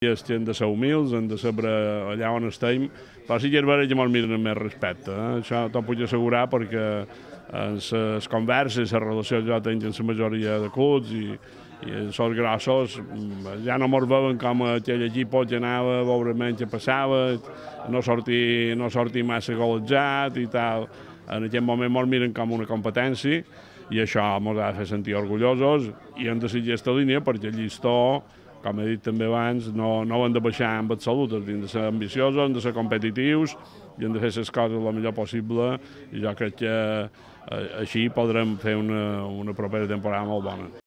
Hem de ser humils, hem de saber allà on estem, però sí que és veritat que ens miren amb més respecte. Això t'ho puc assegurar perquè en les converses, les relacions que jo tinc amb la majoria de clubs i els grossos ja no ens veuen com aquell equip que anava a veure menys que passava, no sortir massa golejat i tal. En aquest moment ens miren com una competència i això ens ha de fer sentir orgullosos i hem de seguir aquesta línia perquè el llistó, com he dit també abans, no ho hem de baixar en absolut, hem de ser ambiciosos, hem de ser competitius i hem de fer les coses el millor possible i jo crec que així podrem fer una propera temporada molt bona.